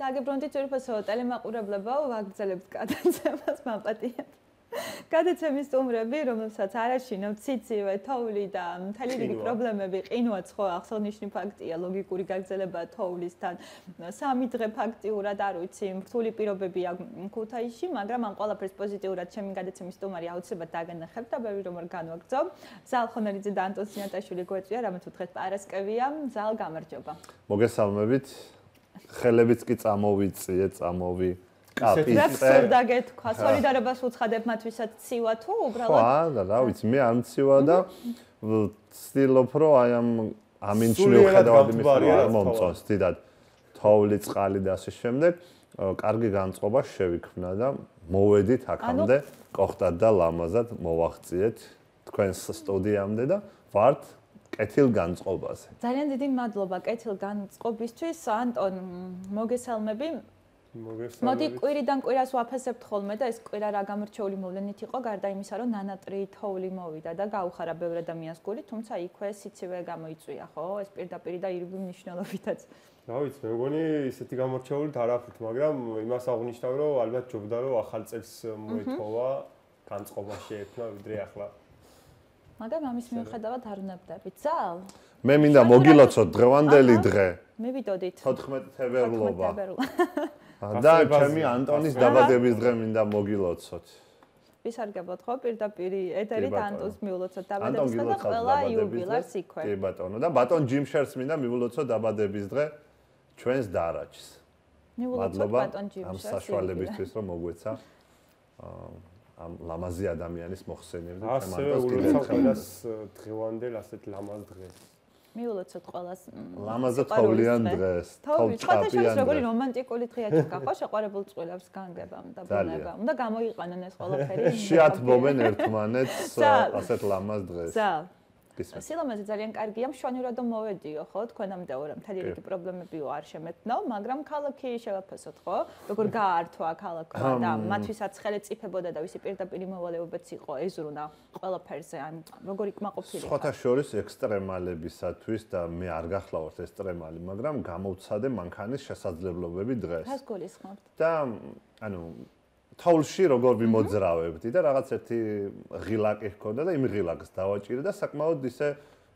აგებრონდით ძვირფასო ტელემაყურებლებო, ვაგრძელებთ გადაცემას მაპატიეთ. გადაცემის სტუმრები, რომელსაც არ აშინავთ ციცივე, თოვლი და მთელი რიგი პრობლემები, ყინვაც ხო აღსანიშნავი ფაქტია, ლოგიკური გაგრძელება თოვლისთან. 3 დღე ფაქტიურად არ ვიცი, რთული პირობებია ქუთაისში, მაგრამ ამ ყველაფერს პოზიტიურად ჩემი გადაცემის სტუმარი აუცილებლად დაგანახებთ და ბევრი რომ არ განვაგრძობ. ზალ ხონელიძე და ანტონ სინატაშვილი გვეწვია, რამაც უთხრეთ პარასკევია. ზალ გამარჯობა. მოგესალმებით. ხელებიც კი წამოვიწიე, კაპიცე. და გეთქვა, სოლიდარობას უცხადებ მათ ვისაც ცივა თუ უბრალოდ? ხო, რა ვიცი, მე არ მცივა და ვცდილობ რომ აი ამ ინჩნიუხედავად იმის არ მომწონს, დიდად თოვლი, წყალი და ასე შემდეგ, კარგი განწყობა შევიქმნა და მოვედით აქამდე, კოხტად და ლამაზად მოვაღწიეთ თქვენს სტუდიამდე და ვართ კეთილ განწყობაზე. ძალიან დიდი მადლობა კეთილ განწყობისთვის, ანტონ, მოგესალმები. მოდი კვირიდან კვირას ვაფასებთ ხოლმე და ეს კვირა რა გამორჩეული მოვლენით იყო, გარდა იმისა, რომ ნანატრი თოვლი მოვიდა და გაუხარა ბევრ ადამიანს გული, თუმცა იქვე სიცივე გამოიწვია, ხო? ეს პირდაპირ და ირიბი მნიშვნელობითაც. რა ვიცი, მე მგონი ისეთი გამორჩეულით არ აქვთ, მაგრამ იმას აღნიშნავ, რომ ალბათ ჯობდა რომ ახალ წელს მოეთხოვა, განწყობა შეექმნა ვიდრე ახლა. მაგრამ ამის მიუხედავად არ უნებდებით. ზალ? მე მინდა მოგილოცოთ დღევანდელი დღე. მე ვიტოდით. 14 თებერვლობა. და ჩემი ანტონის დაბადების დღე მინდა მოგილოცოთ. ვისარგებლოთ ხო პირდაპირ ეთერით ანტონს მიულოცოთ დაბადების დღე და ყველა იუბილარს იქვე. კი ბატონო და ბატონ ჯიმშერს მინდა მიულოცოთ დაბადების დღე ჩვენს დარაჯს. მიულოცოთ ბატონ ჯიმშერს. ამ საშუალებისთვის რომ მოგვეცა ამ ლამაზი ადამიანის მოხსენება და ჩემ ანტონს კიდევ ხელს დღევანდელ ასეთ ლამაზ დღეს. მიულოცოთ ყველას ლამაზად თოვლიან დღეს, თოვლჭაპიან. როგორი რომანტიკული დღეა ჩქა, ხო შეყვარებულ წყვილებს განგებამ და ბუნებამ. უნდა გამოიყენონ ეს ყველაფერი. შეათბობენ ერთმანეთს ასეთ ლამაზ დღეს. სილამაზე ძალიან კარგია, მშვენივრად მოვედიო, ხო? თქვენამდე ორ მთელი რიგი პრობლემებიო არ შემეთნო, მაგრამ ქალაქი შევაფასოთ, ხო? როგორ გაართვა ქალაქმა და მათვისაც ხელეწიფებოდა და ვისი პირდაპირ მოვალეობაც იყო ეზრუნა ყველაფერზე, ან როგორი კმაყოფილი. სხვათა შორის ექსტრემალებისათვის და მე არ გახლავართ ექსტრემალი, მაგრამ გამოვცადე მანქანის შესაძლებლობები დღეს. რას გულისხმობთ? და ანუ თოვლში როგორ ვიმოძრავებდი და რაღაც ერთი ღილაკი ჰქონდა და იმ ღილაკს დავაჭირე და საკმაოდ ისე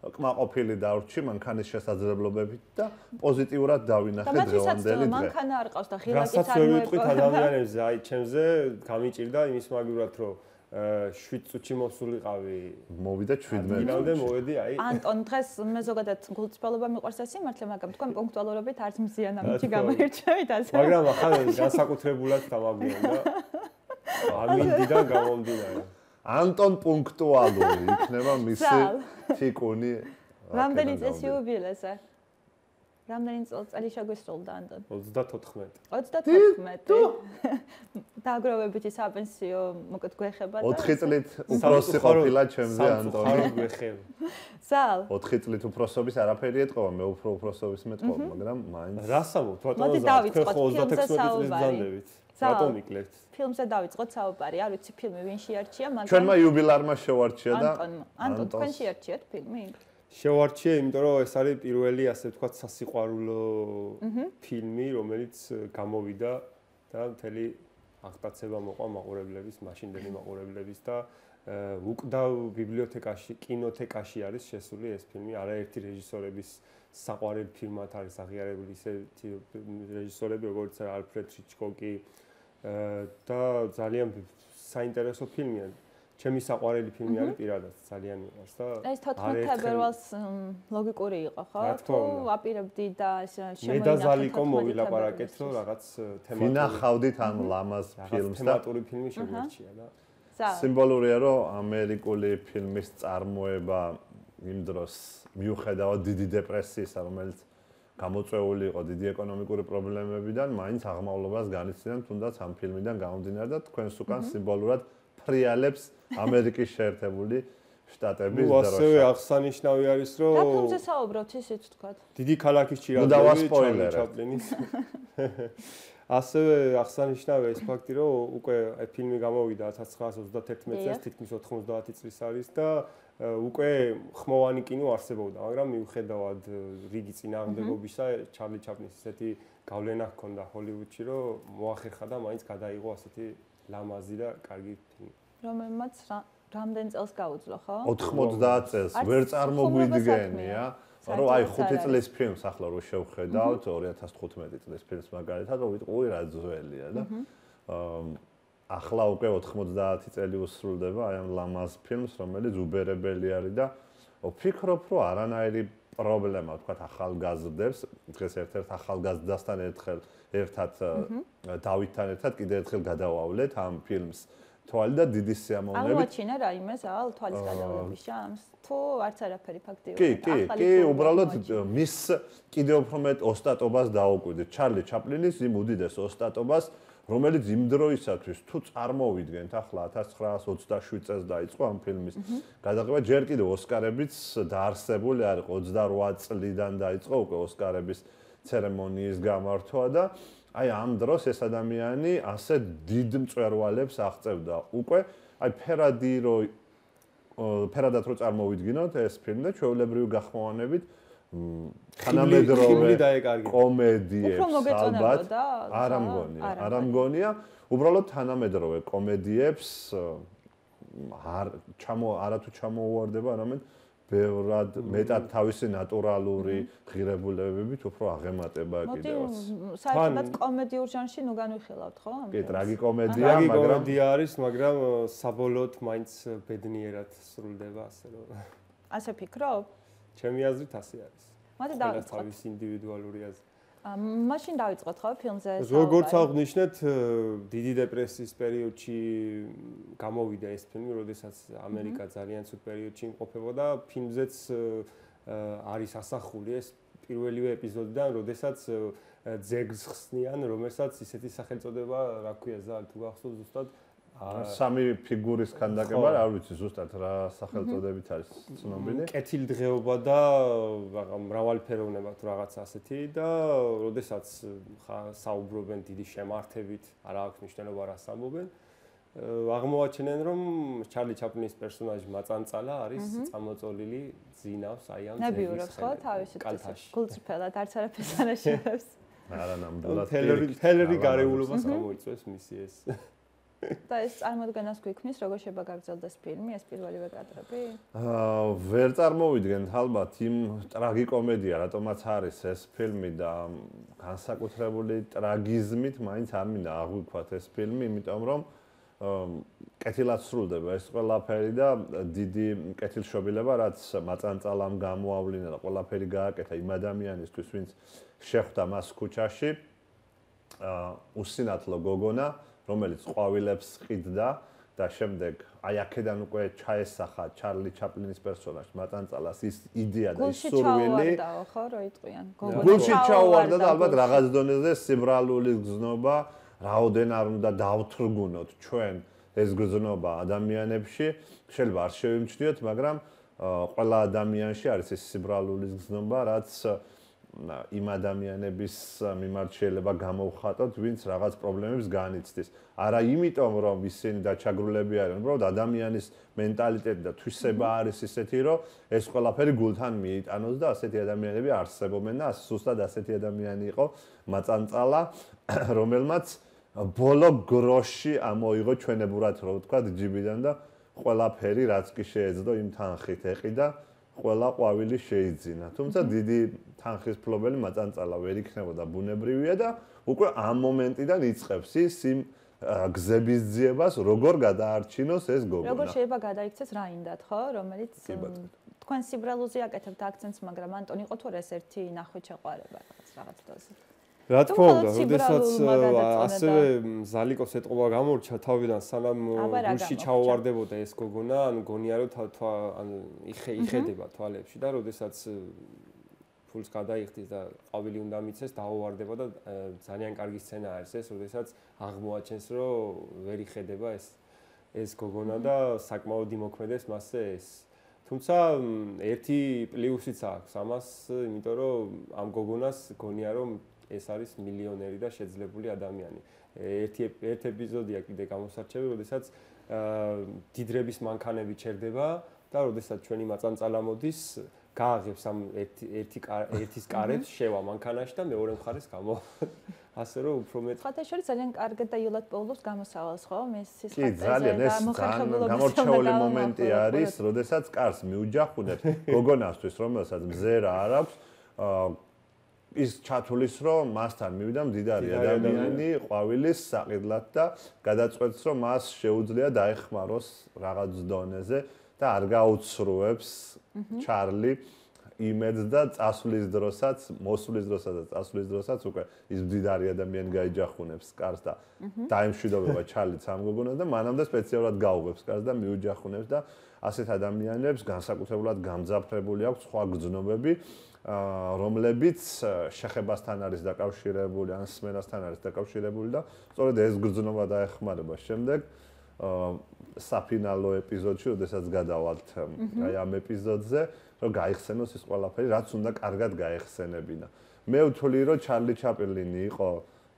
კმაყოფილი დავრჩი მანქანის შესაძლებლობებით და პოზიტიურად დავინახე დღევანდელი დღე. მანქანა არ ყავს და ღილაკიც არ მოეყვა. რასაც ვიტყვით ადამიანებზე, აი ჩემზე გამიჭირდა იმის მაგივრად რომ 7 წუთში მოსულიყავი. მოვიდა 17 წუთში. მოვედი აი. ანტონ დღეს მე ზოგადად გულწრფელობა მიყვარს ეს სიმართლე, მაგრამ თქვენ პუნქტუალურობით არც მზიან ამით გამოირჩევით ასე. მაგრამ ახლა განსაკუთრებულად დამაგვიანდა. ამინდიდან გამომდინარე. ანტონ პუნქტუალური იქნება მისი თიკუნი. რამდენი წესი იუბილეზე? რამდენი წელი შეგვისრულდა ანტონ? 34. 34. დააგროვებითი საპენსიო მოკეთ გვეხება და 4 წლით უფროსი ყოფილა ჩემზე ანტონი. ხარ გვეხება. ზალ 4 წლით უფროსობის არაფერი ეთყობა, მე უფროსობის მეტყობა, მაგრამ მაინც რასამოთ ბატონო მოდი დავიწყოთ ფილმზე 36 წლის საუბარი. ძანდებით. რატომ იკლევთ? ფილმზე დავიწყოთ საუბარი, არ ვიცი ფილმი ვინ შეარჩია, მაგრამ ჩვენმა იუბილარმა შევარჩია და ანტონ თქვენ შეარჩიეთ ფილმი? შევარჩიე, იმიტომ რომ ეს არის პირველი ასე ვთქვათ სასიყვარულო ფილმი, რომელიც გამოვიდა და მთელი აღტაცება მოყვა მაყურებლების, მაშინდელი მაყურებლების და უკდავ ბიბლიოთეკაში, კინოთეკაში არის შესული ეს ფილმი, არაერთი რეჟისორების საყვარელი ფილმად არის აღიარებული ისეთი რეჟისორები, როგორც ალფრედ ჰიჩკოკი და ძალიან საინტერესო ფილმია. ჩემი საყვარელი ფილმი არის პირადად, ძალიან მიყვარს და ეს 14 თებერვალს ლოგიკური იყო, ხო? თუ აპირებდი და ეს მე და ზალიკო მოვილაპარაკეთ, რომ რაღაც თემატური ვინახავდით ამ ლამაზ ფილმს და თემატური ფილმი შეგვერჩია და სიმბოლურია, რომ ამერიკული ფილმის წარმოება იმ დროს მიუხედავად დიდი დეპრესიისა, რომელიც გამოწვეული იყო დიდი ეკონომიკური პრობლემებიდან, მაინც აღმავლობას განიცდიან თუნდაც ამ ფილმიდან გამომდინარე და თქვენს უკან სიმბოლურად ფრიალებს ამერიკის შეერთებული შტატების დროშა. ასევე აღსანიშნავი არის, რომ რა ფილმზე საუბრობთ ისიც თქვათ? დიდი ქალაქის ჩაპლინის. ასევე აღსანიშნავია ეს ფაქტი, რომ უკვე ფილმი გამოვიდა 1931 წელს, თითქმის 90 წლის არის და უკვე ხმოვანი კინო არსებობდა, მაგრამ მიუხედავად რიგი წინააღმდეგობისა, ჩარლი ჩაპლინის ესეთი გავლენა ჰქონდა ჰოლივუდში, რომ მოახერხა და მაინც გადაიღო ასეთი ლამაზი და კარგი ფილმი. რომელმაც რამდენ წელს გაუძლო, ხო? 90 წელს ვერ წარმოგვიდგენია, რომ აი 5 წლის ფილმს ახლა რო შევხედავთ 2015 წლის ფილმს მაგალითად, რომ ვიტყვი რა ძველია და ახლა უკვე 90 წელი უსრულდება აი ამ ლამაზ ფილმს, რომელიც უბერებელი არის და ვფიქრობ, რომ არანაირი პრობლემა თქვა ახალგაზრდებს, დღეს ერთ-ერთ ახალგაზრდასთან ერთად დავითთან ერთად კიდევ ერთხელ გადავავლეთ ამ ფილმს. თვალი და დიდი სიამოვნებით. აღმოაჩინა რაიმე ზალ თვალის გადავლების შანს? თუ არც არაფერი ფაქტიურად. კი, უბრალოდ მის კიდევ უფრო მეტ ოსტატობას დაუკვირდით. ჩარლი ჩაპლინის იმ უდიდეს ოსტატობას, რომელიც იმ დროისათვის თუ წარმოვიდგენთ, ახლა 1927 წელს დაიწყო ამ ფილმის გადაღება, ჯერ კიდევ ოსკარებიც დაარსებული არ იყო, 28 წლიდან დაიწყო უკვე ოსკარების ცერემონიის გამართვა და აი ამ დროს ეს ადამიანი ასე დიდ მწვერვალებს აღწევდა. უკვე აი ფერადად რო წარმოვიდგინოთ ეს ფილმი და ჩვეულებრივი გახმოვანებით თანამედროვე კომედიებს ალბათ არ ამგონია. უბრალოდ თანამედროვე კომედიებს არათუ ჩამოუვარდება, არამედ ბევრად მეტად თავისი ნატურალური ღირებულებებით უფრო აღემატება კიდევაც. საერთოდ კომედიურ ჟანრში ნუ განვიხილავთ, ხო? კი, ტრაგიკომედია არის, მაგრამ საბოლოოდ მაინც ბედნიერად სრულდება, ასე რომ. ასე ფიქრობ? ჩემი აზრით ასე არის. მათი დავიწყოთ. თავის ინდივიდუალური აზრი. მაშინ დავიწყოთ ხო ფილმზე? როგორც აღნიშნეთ, დიდი დეპრესიის პერიოდში გამოვიდა ეს ფილმი, როდესაც ამერიკა ძალიან ცუდ პერიოდში იმყოფებოდა. ფილმზეც არის ასახული ეს პირველივე ეპიზოდიდან, როდესაც ძეგლს ხსნიან, რომელსაც ისეთი სახელწოდება, რა ქვია, ზალ თუ გახსოვთ ზუსტად სამი ფიგურის ქანდაკება, არ ვიცი ზუსტად რა სახელწოდებით არის ცნობილი. კეთილდღეობა და მრავალფეროვნება თუ რაღაცა ასეთი და როდესაც საუბრობენ დიდი შემართებით, არა აქვს მნიშვნელობა რას ამბობენ. აღმოაჩენენ, რომ ჩარლი ჩაპლინის პერსონაჟი მაწანწალა არის წამოწოლილი ძინავს აი ამ ნებიურებს ხო თავისი გულწრფელად არც არაფერს არ აშენებს. არა ნამდვილად თელერი გარეულობას გამოიწვევს მისი ეს და ეს წარმოდგენას გვიქმნის, როგორ შეიძლება გაგრძელდეს ფილმი, ეს პირველივე კადრები? ვერ წარმოვიდგენთ ალბათ იმ ტრაგიკომედია, რატომაც არის ეს ფილმი და განსაკუთრებული ტრაგიზმით, მაინც არ მინდა აღვიქვათ ეს ფილმი, იმიტომ რომ კეთილად სრულდება ეს ყველაფერი და დიდი კეთილშობილება, რაც მაწანწალამ გამოავლინა და ყველაფერი გააკეთა იმ ადამიანისთვის, ვინც შეხვდა მას ქუჩაში, უსინათლო გოგონა, რომელიც ყვავილებს ყიდდა და შემდეგ აი აქედან უკვე ჩაესახა ჩარლი ჩაპლინის პერსონაჟს მაწანწალას ის იდეა და ის სურვილი. ხო, რო იტყვიან. გულში ჩაუვარდა და ალბათ რაღაც დონეზე სიბრალული გზნობა რაოდენ არ უნდა დავთრგუნოთ ჩვენ ეს გზნობა ადამიანებში. შეიძლება არ შევიმჩნიოთ, მაგრამ ყველა ადამიანში არის ეს სიბრალული გზნობა, რაც იმ ადამიანების მიმართ შეიძლება გამოვხატოთ, ვინც რაღაც პრობლემებს განიცდის. არა იმიტომ, რომ ისინი დაჩაგრულები არიან, უბრალოდ ადამიანის მენტალიტეტი და თვისება არის ისეთი, რომ ეს ყველაფერი გულთან მიიტანოს და ასეთი ადამიანები არსებობენ და ზუსტად ასეთი ადამიანი იყო მაწანწალა, რომელმაც ბოლო გროში ამოიღო ჩვენებურად, რო ვთქვათ, ჯიბიდან და ყველაფერი რაც კი შეეძლო იმ თანხით ეყიდა. ყველა ყვავილი შეიძინა. თუმცა დიდი თანხის ფლობელი მაწანწალა ვერ იქნებოდა ბუნებრივია და უკვე ამ მომენტიდან იწყებს ის იმ გზების ძიებას, როგორ გადაარჩინოს ეს გოგონა. როგორ შეიძლება გადაიქცეს რაინდად, ხო, რომელიც თქვენ სიბრალუზე აკეთებთ აქცენტს, მაგრამ ანტონ იყო თუ ეს ერთი ნახვით შეყვარება რაღაც დოზით. რა თქმა უნდა, როდესაც ასევე ზალიკოს ეტყობა გამორჩა თავიდან სანამ გულში ჩაუვარდებოდა ეს გოგონა, ანუ გონია რომ იხედება თვალებში და როდესაც ფულს გადაიხდის და ყვავილი უნდა მიცეს, დაუვარდება და ძალიან კარგი სცენა არის ეს, როდესაც აღმოაჩენს რომ ვერ იხედება ეს გოგონა და საკმაოდ იმოქმედებს მასზე ეს. თუმცა ერთი პლუსიც აქვს ამას, იმიტომ რომ ამ გოგონას გონია რომ ეს არის მილიონერი და შეძლებული ადამიანი. ერთ ეპიზოდია კიდე გამოსარჩევი, როდესაც დიდრების მანქანები ჩერდება და როდესაც ჩვენი მაწანწალა მოდის, გააღებს ამ ერთის კარებს შევა მანქანაში და მეორე მხარეს გამო. ასე რომ უფრო მეტ ხათაშორი ძალიან კარგად და იულად პოულობს გამოსავალს, ხო? მის სისხლზე და მოხერხებულობის გამორჩეული მომენტი არის, როდესაც კარს მიუჯახუნებ გოგონასთვის, რომელსაც მზერა არ აქვს, ის ჩათulis რომ მასთან მივიდა მდიდარი ადამიანი ყვავილის საყიდლად და გადაწყვეტს რომ მას შეუძლია დაეხმაროს რაღაც დონეზე და არ გაუცრუებს ჩარლი იმედს და წასვლის დროსაც, მოსვლის დროსაც და წასვლის დროსაც უკვე ის მდიდარი ადამიანი გაიჯახუნებს კარს და დაემშვიდობება ჩარლიც ამ გოგონას და მანამდე სპეციალურად გაუღებს კარს და მიუჯახუნებს და ასეთ ადამიანებს განსაკუთრებულად გამძაფრებული აქვს სხვა გრძნობები რომლებიც შეხებასთან არის დაკავშირებული, ან სმენასთან არის დაკავშირებული და სწორედ ეს გრძნობა დაეხმარება შემდეგ საფინალო ეპიზოდში, როდესაც გადავალთ აი ამ ეპიზოდზე, რომ გაიხსენოს ის ყველაფერი, რაც უნდა კარგად გაეხსენებინა. მე ვთვლი, რომ ჩარლი ჩაპლინი იყო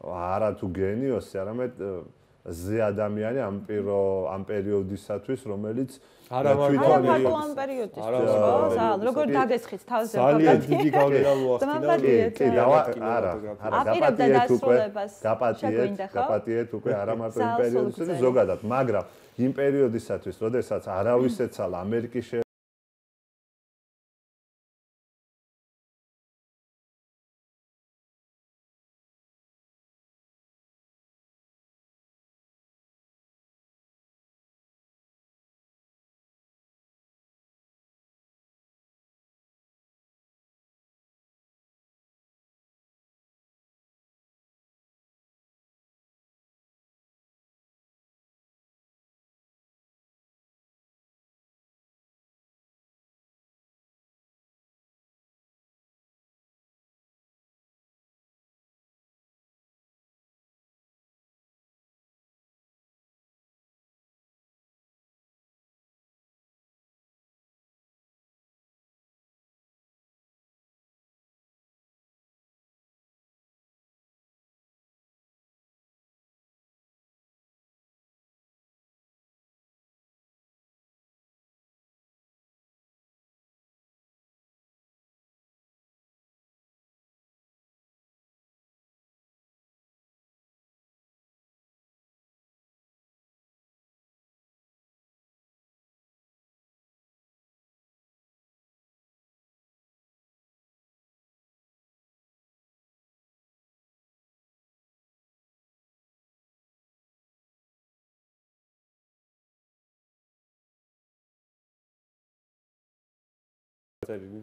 არა თუ გენიოსი, არამედ ზე ადამიანი ამ პერიოდისათვის, რომელიც არა მარტო ამ პერიოდისთვის, ხო? ზალ, როგორ დაგესხით თავზე ძალიან დიდი გავლენა მოახდინა. გაპატიეთ უკვე არა მარტო იმ პერიოდისათვის, ზოგადად, მაგრამ იმ პერიოდისათვის, როდესაც არავის ეცალა ამერიკის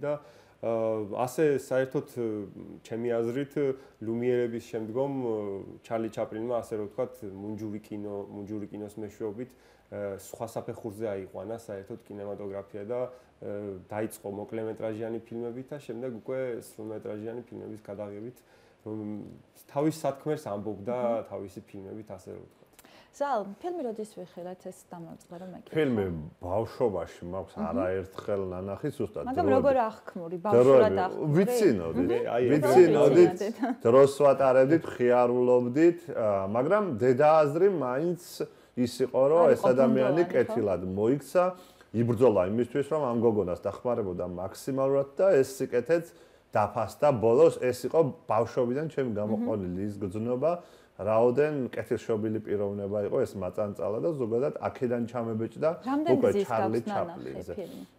და ასე საერთოდ ჩემი აზრით ლუმიერების შემდგომ ჩარლი ჩაპლინმა ასე რომ ვთქვათ მუნჯური კინოს მეშვეობით სხვა საფეხურზე აიყვანა საერთოდ კინემატოგრაფია და დაიწყო მოკლემეტრაჟიანი ფილმებით და შემდეგ უკვე სრულმეტრაჟიანი ფილმების გადაღებით რომ თავის სათქმელს ამბობდა თავისი ფილმებით ასე რომ ვთქვათ. ზალ, ფილმი როდის ვიხილეთ ეს დამოწყდა რომ ეკითხა. ფილმი ბავშვობაში მაქვს არაერთხელ ნანახი ზუსტად. მაგრამ როგორ აღქმური, ბავშვურად აღქმური? ვიცინოდით, დროს ვატარებდით, ხიარულობდით, მაგრამ დედააზრი მაინც ის იყო, რომ ეს ადამიანი კეთილად მოიქცა, იბრძოლა იმისთვის, რომ ამ გოგონას დახმარებოდა მაქსიმალურად და ეს სიკეთეც დაფასდა ბოლოს, ეს იყო ბავშვობიდან ჩემი გამოყენილი ის გრძნობა. რაოდენ კეთილშობილი პიროვნება იყო ეს მაწანწალა და ზოგადად აქედან ჩამებეჭდა უკვე ჩარლი ჩაპლინზე.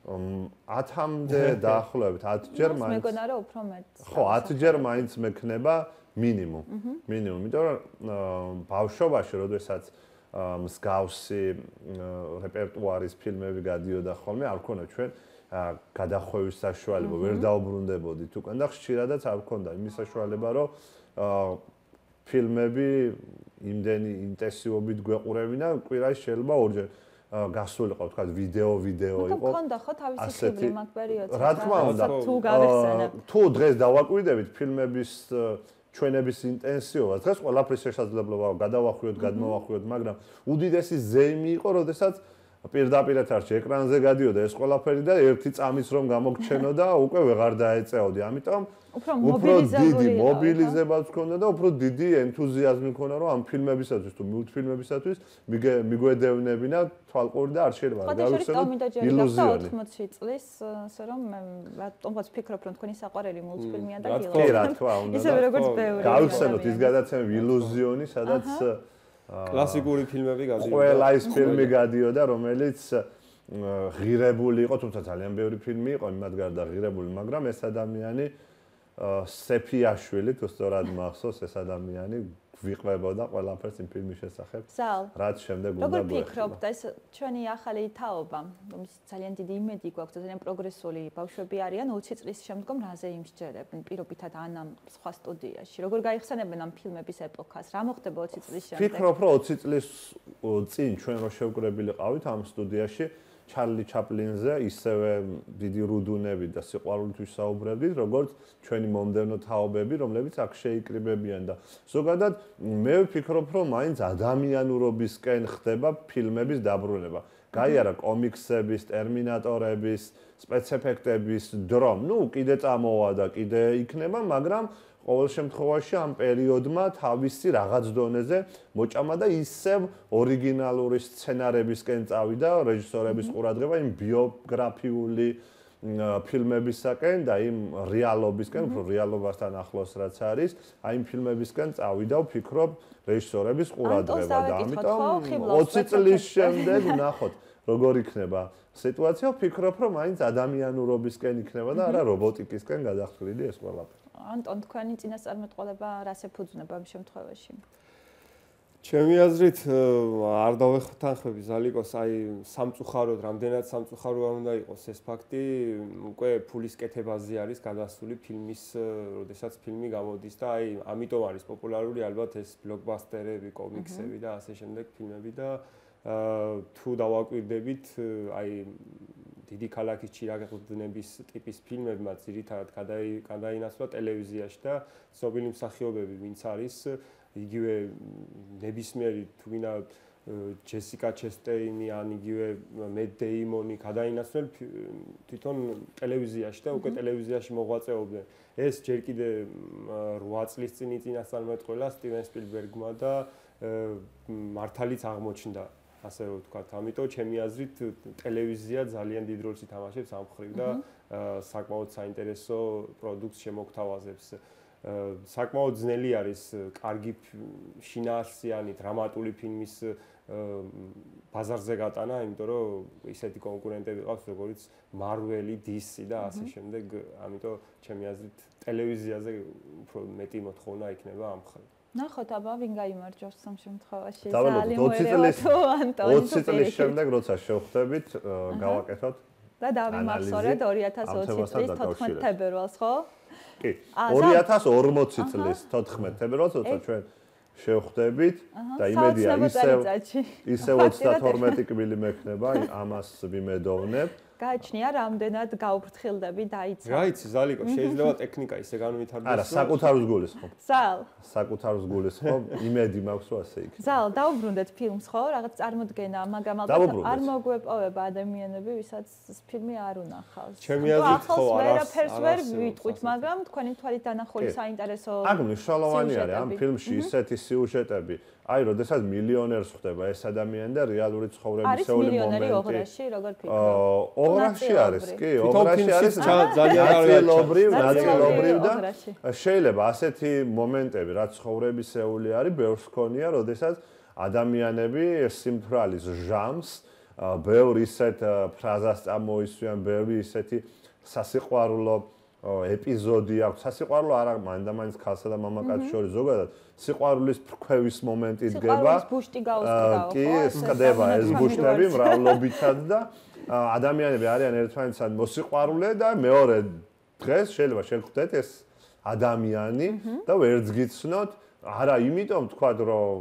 10-მდე დაახლოებით 10 ჯერ მაინც. მეგონა რომ უფრო მეტ. ხო, 10 ჯერ მაინც მექნება მინიმუმ. იმიტომ რომ ბავშვობაში, როდესაც მსგავსი რეპერტუარის ფილმები გადიოდა ხოლმე, არ ვქონდა ჩვენ გადახვევის საშუალება, ვერ დაუბრუნდებოდით უკან და ხშირადაც არ ვქონდა იმის საშუალება, რომ ფილმები იმდენი ინტენსივობით გვეყურებინა, კვირაში შეიძლება ორჯერ გასულიყო, თქვა ვიდეო იყო. მქონდა ხო თავისი ხიბლი მაგ პერიოდში? რა თქმა უნდა, თუ გავიხსენებ. თუ დღეს დავაკვირდებით ფილმების ჩვენების ინტენსივობას, დღეს ყველაფრის შესაძლებლობა გადავახვიოთ, გადმოვახვიოთ, მაგრამ უდიდესი ზეიმი იყო, როდესაც პირდაპირ ეთერში ეკრანზე გადიოდა ეს ყველაფერი და ერთი წამის რომ გამოგჩენოდა, უკვე ვეღარ დაეწეოდი. ამიტომ უფრო დიდი მობილიზებაც ჰქონდა და უფრო დიდი ენთუზიაზმი ჰქონდა, რომ ამ ფილმებისათვის თუ მულტფილმებისათვის მიგვედევნებინა თვალყური და არ შეიძლება გავიხსენოთ ილუზიონი. 80 წლის, ასე რომ მე თუმცა ვფიქრობ, რომ თქვენი საყვარელი მულტფილმია და გილო. კი, რა თქმა უნდა. ისევე როგორც ბევრი. გავიხსენოთ ის გადაცემები ილუზიონი, სადაც კლასიკური ფილმები გადიოდა. ყველა ის ფილმი გადიოდა, რომელიც ღირებული იყო, თუმცა ძალიან ბევრი ფილმი იყო იმათ გარდა ღირებული, მაგრამ ეს ადამიანი სეფიაშვილი თუ სწორად მახსოვს ეს ადამიანი ვიყვებოდა ყველაფერს იმ ფილმის შესახებ. რაც შემდეგ უნდა გვეხება. როგორ ფიქრობთ, ეს ჩვენი ახალი თაობა, რომელიც ძალიან დიდი იმედი გვაქვს, ძალიან პროგრესული ბავშვები არიან 20 წლის შემდგომ რაზე იმსჯერებენ პირობითად ანამ სხვა სტუდიაში. როგორ გაიხსენებენ ამ ფილმების ეპოქას? რა მოხდება 20 წლის შემდეგ? ვფიქრობ, რომ 20 წლის წინ ჩვენ რო შევკრებილიყავით ამ სტუდიაში ჩარლი ჩაპლინზე ისევე დიდი რუდუნები და სიყვარულით ვისაუბრებდით, როგორც ჩვენი მომდევნო თაობები, რომლებიც აქ შეიკრიბებიან და ზოგადად მე ვფიქრობ, რომ მაინც ადამიანურობისკენ ხდება ფილმების დაბრუნება. გაიარა კომიქსების, ტერმინატორების, სპეცეფექტების დრო. ნუ კიდე წამოვა და კიდე იქნება, მაგრამ ყოველ შემთხვევაში ამ პერიოდმა თავისი რაღაც დონეზე მოჭამა და ისევ ორიგინალური სცენარებისკენ წავიდა რეჟისორების ყურადღება იმ ბიოგრაფიული ფილმებისაკენ და იმ რეალობისკენ, უფრო რეალობასთან ახლოს რაც არის, აი იმ ფილმებისკენ წავიდა, ვფიქრობ, რეჟისორების ყურადღება და ამიტომ 20 წლის შემდეგ ვნახოთ, როგორ იქნება სიტუაცია, ვფიქრობ, რომ მაინც ადამიანურობისკენ იქნება და არა რობოტიკისკენ გადახდილი ეს ყველაფერი. ანტონ, თქვენი წინასწარმეტყველება რას ეფუძნება ამ შემთხვევაში? ჩემი აზრით არ დავეხთანხმები ზალიკოს, აი სამწუხაროდ, რამდენად სამწუხარო არ უნდა იყოს ეს ფაქტი, უკვე ფულის კეთებაზე არის გადასული ფილმის, როდესაც ფილმი გამოდის და აი ამიტომ არის პოპულარული ალბათ ეს ბლოკბასტერები, კომიქსები და ასე შემდეგ ფილმები და თუ დავაკვირდებით, აი დიდი ქალაქის ჩირაღდნების ტიპის ფილმებმა ძირითადად გადაინაცვლა ტელევიზიაში და ცნობილი მსახიობები, ვინც არის იგივე ნებისმიერი თუ ვინა ჯესიკა ჩესტეინი ან იგივე მედ დეიმონი გადაინაცვლენ თვითონ ტელევიზიაში და უკვე ტელევიზიაში მოღვაწეობდნენ. ეს ჯერ კიდე 8 წლის წინ წინასწარმეტყველა სტივენ სპილბერგმა და მართალიც აღმოჩნდა. ასე რომ ვთქვათ, ამიტომ ჩემი აზრით ტელევიზია ძალიან დიდ როლს ითამაშებს ამ ხრივ და საკმაოდ საინტერესო პროდუქტს შემოგთავაზებს. საკმაოდ ძნელი არის კარგი შინაარსიანი დრამატული ფილმის ბაზარზე გატანა, იმიტომ რომ ისეთი კონკურენტები ყავს, როგორც Marvel-ი, DC და ასე შემდეგ, ამიტომ ჩემი აზრით ტელევიზიაზე უფრო მეტი მოთხოვნა იქნება ამ ხრივ. ნახოთ აბა ვინ გაიმარჯვებს ამ შემთხვევაში. ძალიან მოერევათო ანტონი. 20 წლის შემდეგ როცა შევხვდებით, გავაკეთოთ და დავიმახსოვრეთ 2020 წლის 14 თებერვალს, ხო? კი. 2040 წლის 14 თებერვალს, როცა ჩვენ შევხვდებით და იმედია ისევ 32 კბილი მექნება, ამას ვიმედოვნებ. გააჩნია რამდენად გაუფრთხილდები დაიცა. რა იცი ზალიკო, შეიძლება ტექნიკა ისე განვითარდეს. არა, საკუთარ გულისხმობ. ზალ. საკუთარ გულისხმობ, იმედი მაქვს რომ ასე იქნება. ზალ, დაუბრუნდეთ ფილმს, ხო? რაღაც წარმოდგენა, მაგრამ არ მოგვეპოვება ადამიანები, ვისაც ეს ფილმი არ უნახავს. ჩემი აზრით ხო, არაფერს ვერ ვიტყვით, მაგრამ თქვენი თვალით დანახული საინტერესო. აქ მნიშვნელოვანი არის ამ ფილმში ისეთი სიუჟეტები. აი, როდესაც მილიონერს ხდება ეს ადამიანი და რეალური ცხოვრებისეული მომენტი. არის მილიონერი ოღრაში, როგორ ფიქრობ? ოღრაში არის, კი, ოღრაში არის ძალიან ნაწილობრივ და შეიძლება ასეთი მომენტები, რაც ცხოვრებისეული არის, ბევრს ქონია, როდესაც ადამიანები სიმთვრალის ჟამს, ბევრ ისეთ ფრაზას წამოისვიან, ბევრი ისეთი სასიყვარულო ეპიზოდი აქვს. სასიყვარულო არა მანდამაინც ქალსა და მამაკაცის შორის ზოგადად სიყვარულის ფრქვევის მომენტი დგება. კი, ხდება ეს ბუშტები მრავლობითად და ადამიანები არიან ერთმანეთთან მოსიყვარულე და მეორე დღეს შეიძლება შეგხვდეთ ეს ადამიანი და ვერც გიცნოთ, არა იმიტომ თქვათ რომ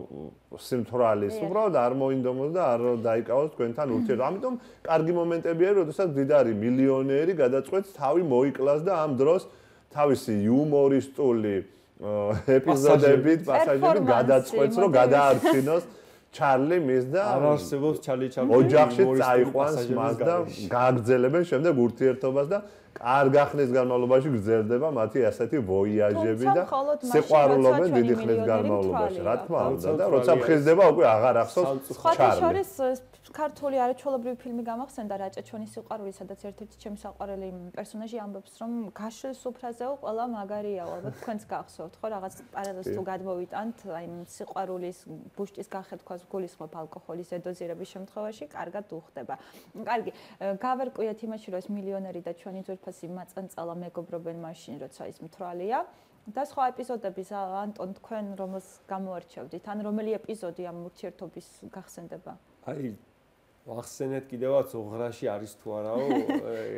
სიმთვრალის უბრალოდ არ მოინდომოს და არ დაიკავოს თქვენთან ურთიერთობა. ამიტომ კარგი მომენტები არის, როდესაც დიდარი მილიონერი გადაწყვეტს თავი მოიკლას და ამ დროს თავისი იუმორისტული ეპიზოდებით, პასაჟებით გადაწყვეტს რომ გადაარჩინოს ჩარლი მის და არ არსებობს ჩარლი ჩაპლინი ოჯახში წაიყვანს მას და გააგრძელებენ შემდეგ ურთიერთობას და კარგ ახლის განმავლობაში გრძელდება მათი ასეთი ვოიაჟები და სიყვარულობენ დიდი ხნის განმავლობაში. რა თქმა უნდა და როცა მხიზდება უკვე აღარ ახსოვს ჩარლი. ქართული არაჩვეულებრივი ფილმი გამახსენდა რაჭა-ჩვენი სიყვარული, სადაც ერთ-ერთი ჩემი საყვარელი პერსონაჟი ამბობს, რომ გაშლის სუფრაზეო ყველა მაგარიაო, ალბათ თქვენც გახსოვთ, ხო, რაღაც პარალელს თუ გადმოვიტანთ, აი სიყვარულის ბუშტის გახეთქვას გულისხმობ ალკოჰოლის ზედოზირების შემთხვევაში, კარგად უხდება. კარგი, გავერკვიათ იმაში, რომ ეს მილიონერი და ჩვენი ძვირფასი მაწანწალა მეგობრობენ მაშინ, როცა ის მთვრალია. და სხვა ეპიზოდების ანტონ თქვენ რომელს გამოარჩევდით, ან რომელი ეპიზოდი ამ ურთიერთობის გახსენდება? აი ვახსენეთ კიდევაც ოღრაში არის თუ არაო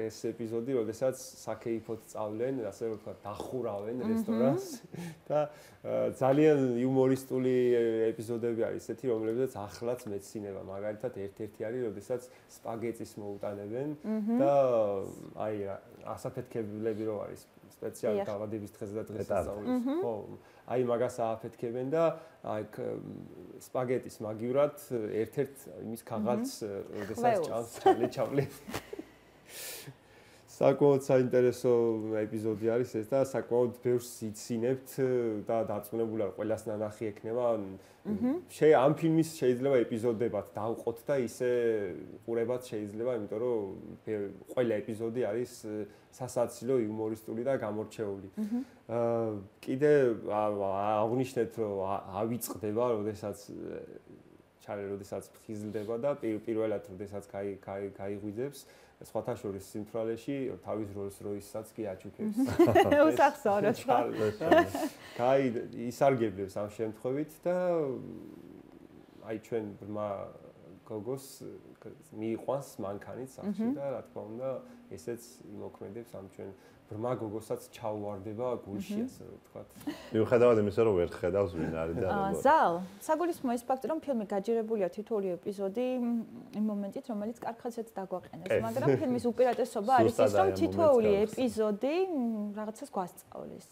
ეს ეპიზოდი, როდესაც საქეიფოდ წავლენ, ასე რომ ვთქვა, დახურავენ რესტორანს და ძალიან იუმორისტული ეპიზოდები არის ესეთი, რომლებზეც ახლაც მეცნიერება, მაგალითად ერთ-ერთი არის, როდესაც სპაგეტის მოუტანებენ და აი ასაფეთქებლები რო არის სპეციალური დაბადების დღეზე და დღესასწაულს, ხო, აი მაგას ააფეთქებენ და აი სპაგეტის მაგივრად ერთ-ერთ იმის ქაღალდს როდესაც ჭამს ჩარლი ჩაპლინი. საკმაოდ საინტერესო ეპიზოდი არის ეს და საკმაოდ ბევრს იცინებთ და დარწმუნებული ვარ ყველას ნანახი ექნება. ამ ფილმის შეიძლება ეპიზოდებად დავყოთ და ისე ყურებად შეიძლება, იმიტომ რომ ყველა ეპიზოდი არის სასაცილო, იუმორისტული და გამორჩეული. კიდე აღნიშნეთ, რომ ავიწყდება, როდესაც ჩარლი როდესაც ფხიზლდება და პირველად როდესაც გაიღვიძებს სხვათა შორის სიმთვრალეში თავის როლს როისაც კი აჩუქებს. უსახსოვროდ. ისარგებლებს ამ შემთხვევით და აი ჩვენ ბრმა გოგოს მიიყვანს მანქანით სახში და რა თქმა უნდა ესეც იმოქმედებს ამ ჩვენ ბრმა გოგოსაც ჩაუვარდება გულში ასე ვთქვათ. მიუხედავად იმისა, რომ ვერ ხედავს ვინ არის და როგორ. ზალ, საგულისხმოა ეს ფაქტი, რომ ფილმი გაჯერებულია თითოეული ეპიზოდი იმ მომენტით, რომელიც კარგხაზეც დაგვაყენებს, მაგრამ ფილმის უპირატესობა არის ის, რომ თითოეული ეპიზოდი რაღაცას გვასწავლის.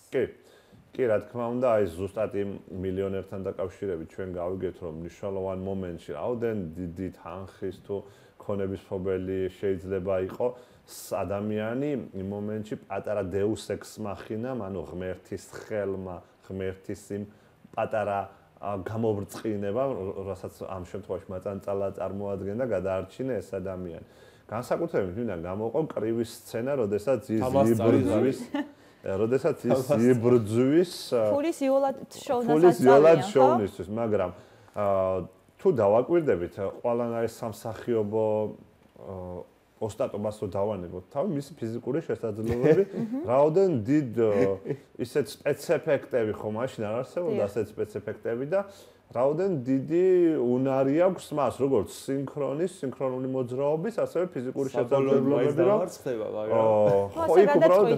კი, რა თქმა უნდა, აი ზუსტად იმ მილიონერთან დაკავშირებით ჩვენ გავიგეთ, რომ მნიშვნელოვან მომენტში რაოდენ დიდი თანხის თუ ქონების მფლობელი შეიძლება იყო ადამიანი იმ მომენტში პატარა დეუს ექს მახინამ, ანუ ღმერთის ხელმა, ღმერთის იმ პატარა გამობრწყინება, რასაც ამ შემთხვევაში მაწანწალა წარმოადგენდა, გადაარჩინა ეს ადამიანი. განსაკუთრებით ვინდა გამოყო კრივი სცენა, როდესაც ის იბრძვის ფულის იოლად შოვნისთვის, მაგრამ თუ დავაკვირდებით, ყველანაირ სამსახიობო ოსტატობას რო დავანებოთ თავი მისი ფიზიკური შესაძლებლობები, რაოდენ დიდ ისეთ სპეცეფექტები ხო მაშინ არ არსებობდა ასეთ სპეცეფექტები და რაოდენ დიდი უნარი აქვს მას, როგორც სინქრონული მოძრაობის, ასევე ფიზიკური შესაძლებლობები, რომ ხო იქ უბრალოდ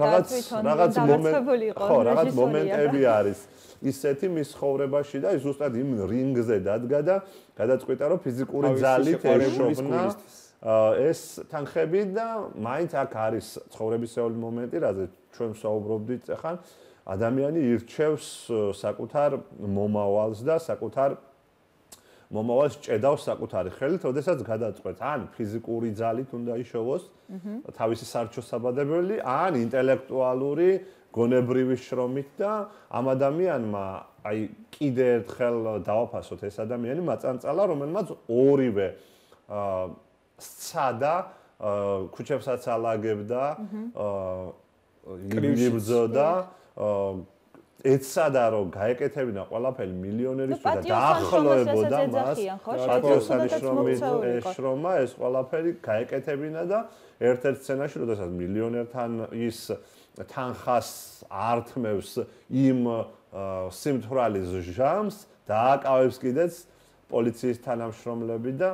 რაღაც მომენტები არის ისეთი მის ხოვრებაში და ზუსტად იმ რინგზე დადგა და გადაწყვიტა, რომ ფიზიკური ძალით ეშოვნა ეს თანხები და მაინც აქ არის ცხოვრებისეული მომენტი, რაზე ჩვენ ვსაუბრობდით ახლა, ადამიანი ირჩევს საკუთარ მომავალს და საკუთარ მომავალს ჭედავს საკუთარი ხელით, როდესაც გადაწყვეტს, ან ფიზიკური ძალით უნდა იშოვოს თავისი სარჩოსაბადებელი, ან ინტელექტუალური გონებრივი შრომით და ამ ადამიანმა აი კიდე ერთხელ დავაფასოთ ეს ადამიანი მაწანწალა, რომელმაც ორივე სცადა, ქუჩებსაც ალაგებდა, იბრძოდა, ეცადა რომ გაეკეთებინა ყველაფერი მილიონერის და დაახლოებოდა მას პატიოსანიშნომით ეშრომა ეს ყველაფერი გაეკეთებინა და ერთ-ერთ სცენაში, როდესაც მილიონერთან ის თანხას ართმევს იმ სიმთვრალის ჟამს, დააკავებს კიდეც პოლიციის თანამშრომლები და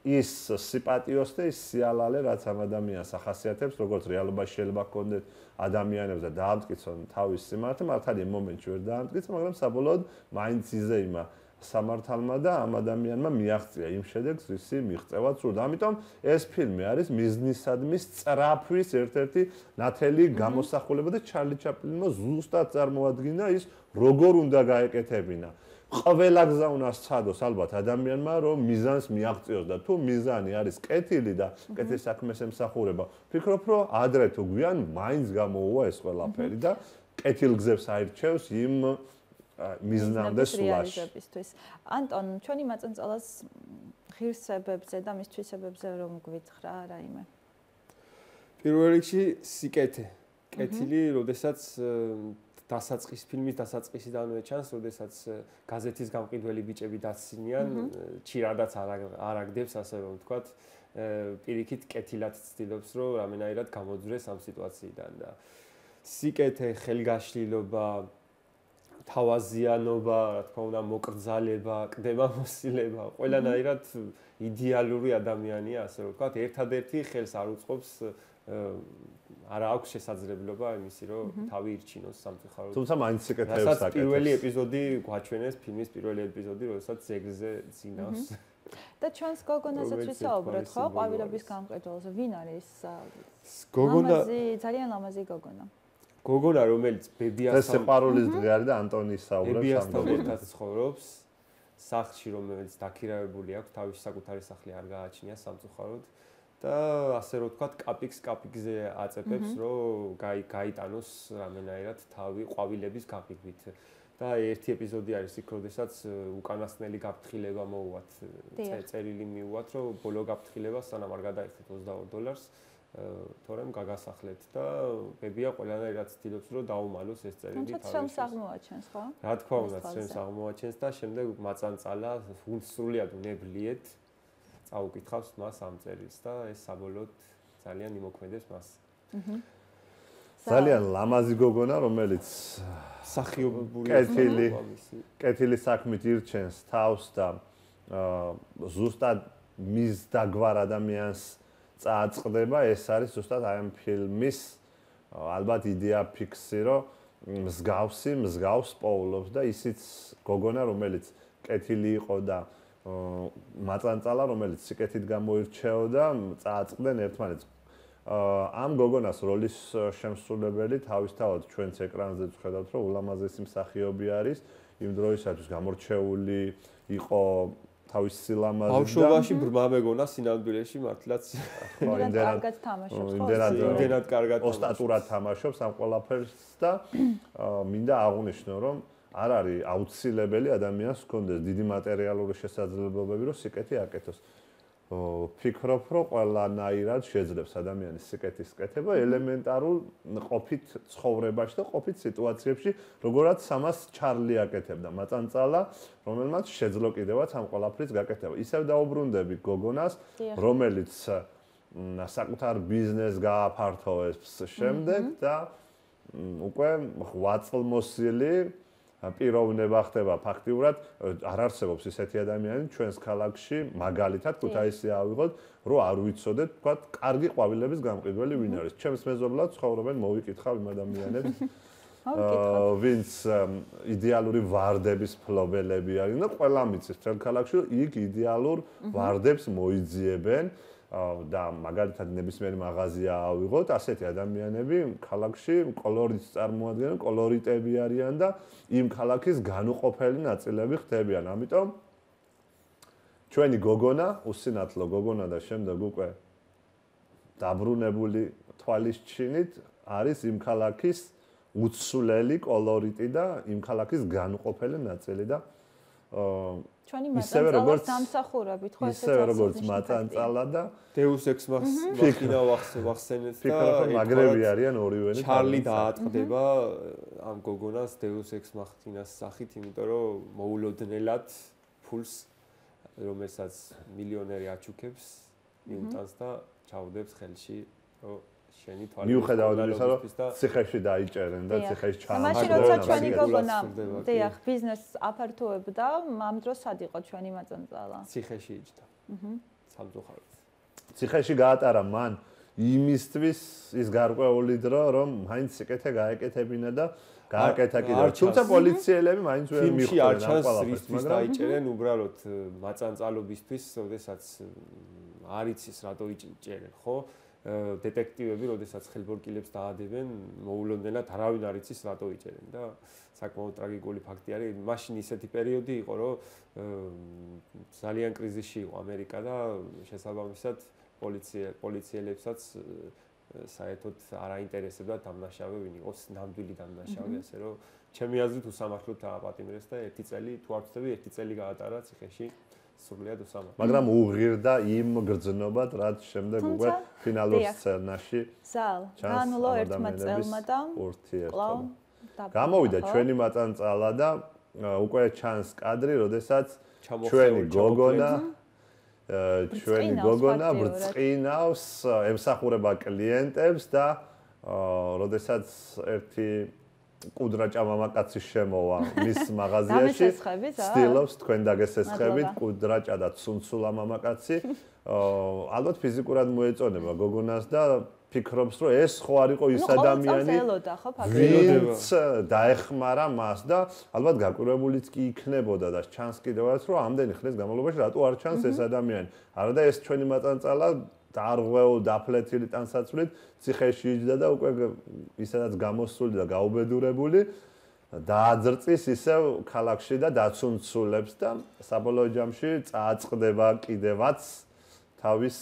ის სიპატიოს და ის სიალალე, რაც ამ ადამიანს ახასიათებს, როგორც რეალობაში შეიძლება ჰქონდეთ ადამიანებს და დაამტკიცონ თავის სიმართლე, მართალია იმ მომენტში ვერ დაამტკიცა, მაგრამ საბოლოოდ მაინც იზეიმა სამართალმა და ამ ადამიანმა მიაღწია იმ შედეგს, ვისი მიღწევა სურდა. ამიტომ ეს ფილმი არის მიზნისადმი სწრაფვის ერთ-ერთი ნათელი გამოსახულება და ჩარლი ჩაპლინმა ზუსტად წარმოადგინა ის, როგორ უნდა გაეკეთებინა ყველა გზა უნდა სცადოს ალბათ ადამიანმა რომ მიზანს მიაღწიოს და თუ მიზანი არის კეთილი და კეთილ საქმეს ემსახურება ვფიქრობ რომ ადრე თუ გვიან მაინც გამოუვა ეს ყველაფერი და კეთილ გზებს აირჩევს იმ მიზნამდე სულაშისთვის. ანტონ, ჩვენი მაწანწალას ღირსებებზე და მის თვისებებზე რომ გვითხრა რაიმე? პირველ რიგში სიკეთე. კეთილი, როდესაც დასაწყის ფილმის დასაწყისიდანვე ჩანს, როდესაც გაზეთის გამყიდველი ბიჭები დაცინიან, ჩირადაც არ აგდებს, ასე რომ ვთქვათ, პირიქით კეთილად ცდილობს, რომ რამენაირად გამოძვრეს ამ სიტუაციიდან და სიკეთე, ხელგაშლილობა, თავაზიანობა, რა თქმა უნდა, მოკრძალება, კდებამოსილება, ყველანაირად იდეალური ადამიანია, ასე რომ ვთქვათ, ერთადერთი ხელს არ უწყობს არა აქვს შესაძლებლობა იმისი, რომ თავი ირჩინოს სამწუხაროდ. თუმცა მაინც სიკეთეებს აკეთებს. პირველი ეპიზოდი გვაჩვენეს, ფილმის პირველი ეპიზოდი, როდესაც ზეგზე ძინავს. და ჩვენს გოგონასაც ვისაუბროთ, ხო, ყვავილების გამყიდველზე. ვინ არის? გოგონა ძალიან ლამაზი გოგონა. გოგონა, რომელიც ბებიასთან ეს სეპარულის დღე არის და ანტონის საუბრობს ბებიასთან ერთად ცხოვრობს, სახლში, რომელიც დაქირავებული აქვს, თავისი საკუთარი სახლი არ გააჩნია სამწუხაროდ. და ასე რომ ვთქვათ, კაპიკზე აწეფებს, რომ გაიტანოს რამენაირად თავი ყვავილების გაყიდვით. და ერთი ეპიზოდი არის იქ, როდესაც უკანასკნელი გაფრთხილება მოუვათ, წერილი მიუვათ, რომ ბოლო გაფრთხილება სანამ არ გადაიხდეთ $22, თორემ გაგასახლეთ და ბებია ყველანაირად ცდილობს, რომ დაუმალოს ეს წერილი თავის. თუმცა შენს აღმოაჩენს, ხო? რა თქმა უნდა, შენს აღმოაჩენს და შემდეგ მაწანწალა სრულიად უნებლიეთ წაუკითხავს მას ამ წერილს და ეს საბოლოოდ ძალიან იმოქმედებს მას. ძალიან ლამაზი გოგონა, რომელიც სახიობებული კეთილი საქმით ირჩენს თავს და ზუსტად მის დაგვარ ადამიანს წააწყდება, ეს არის ზუსტად აი ამ ფილმის ალბათ იდეა ფიქსი, რომ მსგავს პოულობს და ისიც გოგონა, რომელიც კეთილი იყო და მაწანწალა, რომელიც სიკეთით გამოირჩეოდა, წააწყდნენ ერთმანეთს. ამ გოგონას როლის შემსრულებელი თავისთავად ჩვენც ეკრანზე ვხედავთ, რომ ულამაზესი მსახიობი არის, იმ დროისათვის გამორჩეული იყო თავის სილამაზით და ბავშვობაში ბრმა მეგონა სინამდვილეში მართლაც იმდენად თამაშობს, იმდენად კარგად ოსტატურად თამაშობს ამ ყველაფერს და მინდა აღვნიშნო, რომ არ არის აუცილებელი ადამიანს ჰქონდეს დიდი მატერიალური შესაძლებლობები, რომ სიკეთი აკეთოს. ვფიქრობ, რომ ყველანაირად შეძლებს ადამიანის სიკეთის კეთება ელემენტარულ ყოფით ცხოვრებაში და ყოფით სიტუაციებში, როგორაც ამას ჩარლი აკეთებდა მაწანწალა, რომელმაც შეძლო კიდევაც ამ ყველაფრის გაკეთება. ისევ დაუბრუნდები გოგონას, რომელიც საკუთარ ბიზნესს გააფართოვებს შემდეგ და უკვე ღვაწლმოსილი პიროვნება ხდება ფაქტიურად არ არსებობს ისეთი ადამიანი ჩვენს ქალაქში მაგალითად ქუთაისი ავიღოთ რომ არ ვიცოდეთ თქვა კარგი ყვავილების გამყიდველი ვინ არის ჩემს მეზობლად ცხოვრობენ მოვიკითხავ იმ ადამიანებს ვინც იდეალური ვარდების ფლობელები არიან და ყველა მიცის ჩვენ ქალაქში იქ იდეალურ ვარდებს მოიძიებენ და მაგალითად ნებისმიერი მაღაზია ავიღოთ, ასეთი ადამიანები ქალაქში კოლორიტს წარმოადგენენ, კოლორიტები არიან და იმ ქალაქის განუყოფელი ნაწილები ხდებიან. ამიტომ ჩვენი გოგონა, უსინათლო გოგონა და შემდეგ უკვე დაბრუნებული თვალისჩინით არის იმ ქალაქის უცვლელი კოლორიტი და იმ ქალაქის განუყოფელი ნაწილი და ჩვენი მაწანწალას დამსახურებით ხო ესე როგორც მაწანწალა და Deus Ex Machina ვახსენეთ და მაგრები არიან ორივენი ჩარლი დაატყდება ამ გოგონას Deus Ex Machina-ს სახით, იმიტომ რომ მოულოდნელად ფულს რომელსაც მილიონერი აჩუქებს მიუტანს და ჩაუდებს ხელში რომ შენი თვალი მიუხედავად იმისა რომ ციხეში დაიჭერენ და ციხეში ჩაამაგრებენ. მაშინ როცა ჩვენი გოგონა დიახ ბიზნესს აფართოებდა, ამ დროს სად იყო ჩვენი მაწანწალა? ციხეში იჯდა. სამწუხაროდ. ციხეში გაატარა მან იმისთვის ის გარკვეული დრო, რომ მაინც სიკეთე გაეკეთებინა და გააკეთა კიდევ. თუმცა პოლიციელები მაინც ვერ მიხვდნენ ამ ყველაფერს, მაგრამ დაიჭერენ უბრალოდ მაწანწალობისთვის, როდესაც არ იცის რატო იჭერენ, ხო? დეტექტივები, როდესაც ხელბორკილებს დაადებენ, მოულოდნელად არავინ არ იცის რატო იჭერენ და საკმაოდ ტრაგიკული ფაქტი არის. მაშინ ისეთი პერიოდი იყო, რომ ძალიან კრიზისში იყო ამერიკა და შესაბამისად პოლიციელებსაც საერთოდ არ აინტერესებდა დამნაშავე ვინ იყოს, ნამდვილი დამნაშავე, ასე რომ ჩემი აზრით უსამართლოდ დააპატიმრეს და ერთი წელი თუ არ ვწდები, ერთი წელი გაატარა ციხეში. სრულიად უსამართლოდ. მაგრამ უღირდა იმ გრძნობად, რაც შემდეგ უკვე ფინალურ სცენაში განულო ერთმა წელმა და ურთიერთობა. გამოვიდა ჩვენი მაწანწალა და უკვე ჩანს კადრი, როდესაც ჩვენი გოგონა ბრწყინავს, ემსახურება კლიენტებს და როდესაც ერთი კუდრა ჭამამაკაცი შემოვა მის მაღაზიაში, ცდილობს თქვენ დაგესესხებით კუდრაჭა და ცუნცულა მამაკაცი. ალბათ ფიზიკურად მოეწონება გოგონას და ფიქრობს, რომ ეს ხო არ იყო ის ადამიანი, ვინც დაეხმარა მას და ალბათ გაკვირვებულიც კი იქნებოდა და ჩანს კიდევაც, რომ ამდენი ხნის განმავლობაში რატო არ ჩანს ეს ადამიანი. არა და ეს ჩვენი მაწანწალა დარღვეულ დაფლეთილი ტანსაცმლით ციხეში იჯდა და უკვე ისედაც გამოსული და გაუბედურებული დააძრწის ისევ ქალაქში და დაცუნცულებს და საბოლოო ჯამში წააწყდება კიდევაც თავის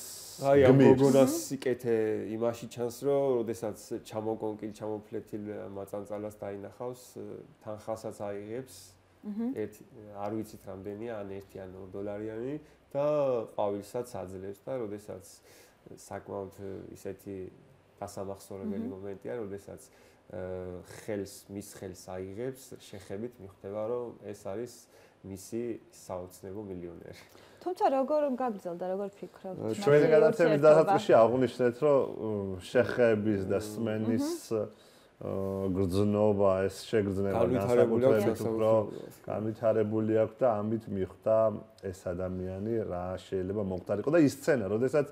აი ამ გოგონას სიკეთე იმაში ჩანს, რომ როდესაც ჩამოფლეთილ მაწანწალას დაინახავს, თანხასაც აიღებს. არ ვიცით რამდენია, ან 1 ან 2 დოლარიანი და ყვავილსაც აძლევს და როდესაც საკმაოდ ისეთი დასამახსოვრებელი მომენტია, როდესაც მის ხელს აიღებს, შეხებით მიხვდება, რომ ეს არის მისი საოცნებო მილიონერი. თუმცა როგორ გაგრძელდა, როგორ ფიქრობთ? ჩვენი გადაცემის დასაწყისში აღვნიშნეთ, რომ შეხების და სმენის გრძნობა, ეს შეგრძნება განსაკუთრებით უფრო განვითარებული აქვს და ამით მიხვდა ეს ადამიანი რა შეიძლება მომხდარიყო და ის სცენა, როდესაც